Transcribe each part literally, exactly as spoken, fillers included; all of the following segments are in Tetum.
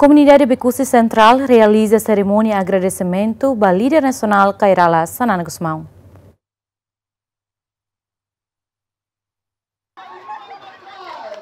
Komunidade Becusse Central realiza serimónia agradesimentu ba líder nasionál Kay Rala Xanana Gusmão.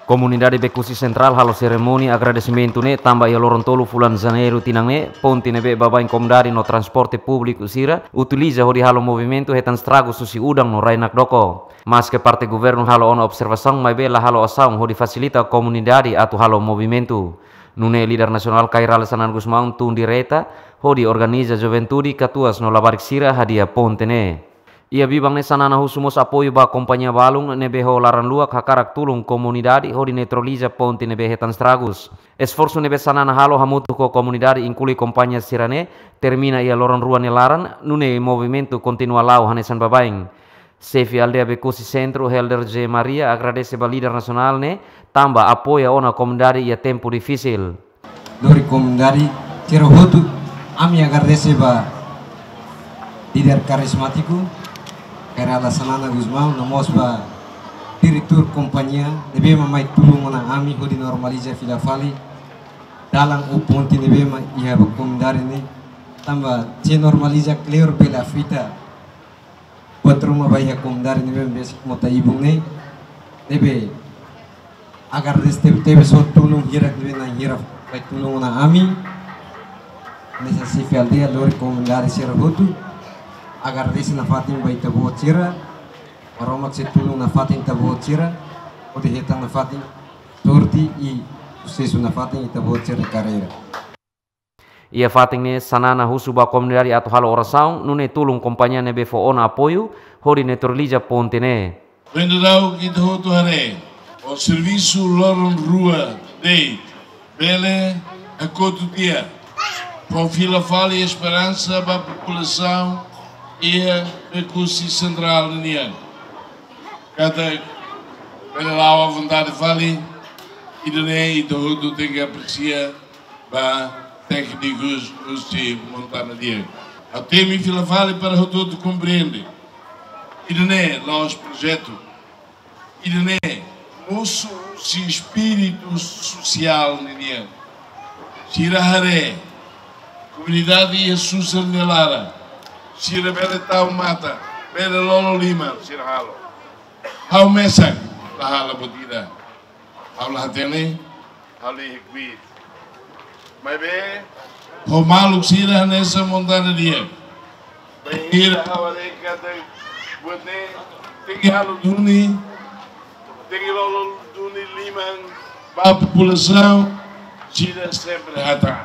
Komunidade Becusse Central halo serimónia agradesimentu ne'e tanba iha loron tolu fulan Janeiru tinan ne'e, ponte ne'ebé baibain komunidade no transporte públiku sira utiliza hodi halo movimentu hetan estragus husi udan no rai-nakdoko. Maske parte governu halo ona observasaun, maibé la halo asaun hodi fasilita komunidade atu halo movimentu. Nune'e líder nasionál Kay Rala Xanana Gusmão tun direta hodi organiza juventude, katuas no labarik sira hadi'a ponte ne'e. Iha biban ne'e Xanana husu mós apoiu ba kompañia balun ne'ebé ho laran luak hakarak tulun komunidade hodi neutraliza ponte ne'ebé hetan estragus. Esforsu ne'ebé Xanana halo hamutuk ho komunidade, inklui kompañia sira-ne'e, termina iha loron rua nia laran, nune'e movimentu kontinua la'o hanesan baibain. Xefe aldeia Becusse Centro, Helder José Maria, agradese ba líder nasionál ne'e tanba apoia ona komunidade iha tempu difisil. Lori komunidade sira hotu, ami agradese ba líder karizmátiku Kay Rala Xanana Gusmão, no mós ba diretór kompañia ne'ebé mak mai tulun ona ami hodi normaliza fila fali dalan ou ponte ne'ebé mak iha ba komunidade ne'e. Tanba se normaliza kleur bele afeta buat ruma ba iha komunidade ne'ebé besik mota ibun ne'e. Ne'ebé agradese tebetebes ho tulun hirak ne'ebé na'in hira mai tulun ona ami. Hanesan xefe aldeia, lori komunidade sira hotu, agradese nafatin ba ita-boot sira. Maromak sei tulun nafatin ita-boot sira hodi hetan nafatin sorte i susesu nafatin ita-boot sira karreira. Iha fatin ne'e Xanana husu ba komunidade atu halo orasaun, nune'e tulun kompañia ne'ebé fó ona apoiu hodi neutraliza ponte ne'e. Vendedau kita hotu haree, o servisu loron rua de'it bele hakotu tiha, fó fila fali esperansa ba populasaun iha Becusse Central nian. Katak bele la'o à vontade fali, ida-ne'e ita hotu tenke apresia ba téknikus husi Montana Di'ak. Ha'u temi fila fali para hotu-hotu komprende. Ida-ne'e la'ós projetu. Ida-ne'e mosu husi espíritu sosiál ninian. Sira haree komunidade iha susar nia laran. Sira bele tau matan, bele lolo liman, sira halo. Ha'u mesak la halo buat ida. Ha'u la hatene, ha'u la iha kbiit. Maibé ho maluk sira hanesan Montana Di'ak, bainhira ha'u haree katak buat ne'e tenke halo duni, tenke lolo duni liman ba populasaun, sira sempre hatán.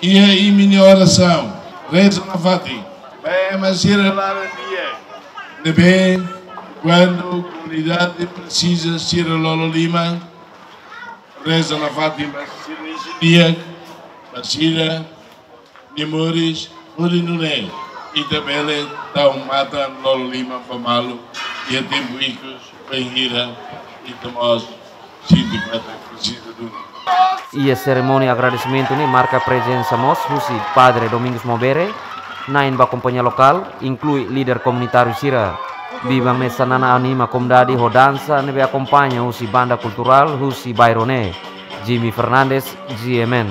Iha imi-nia orasaun, reza nafatin ba ema sira laran di'ak ne'ebé kuandu komunidade presiza sira lolo liman, reza nafatin ba sira isin di'ak, ba sira-nia moris, hodi nune'e ita bele tau matan lolo liman ba malu iha tempu ikus, bainhira ita mós sente katak presiza duni. Iha serimónia agradesimentu ne'e marka prezensa mós husi Padre Domingos Mobere, na'in ba kompañia lokál, inklui líder komunitáriu sira. Biban ne'e Xanana anima komunidade ho dansa ne'ebé akompaña husi banda kulturál husi bairru ne'e. Jimmy Fernandes, G M N.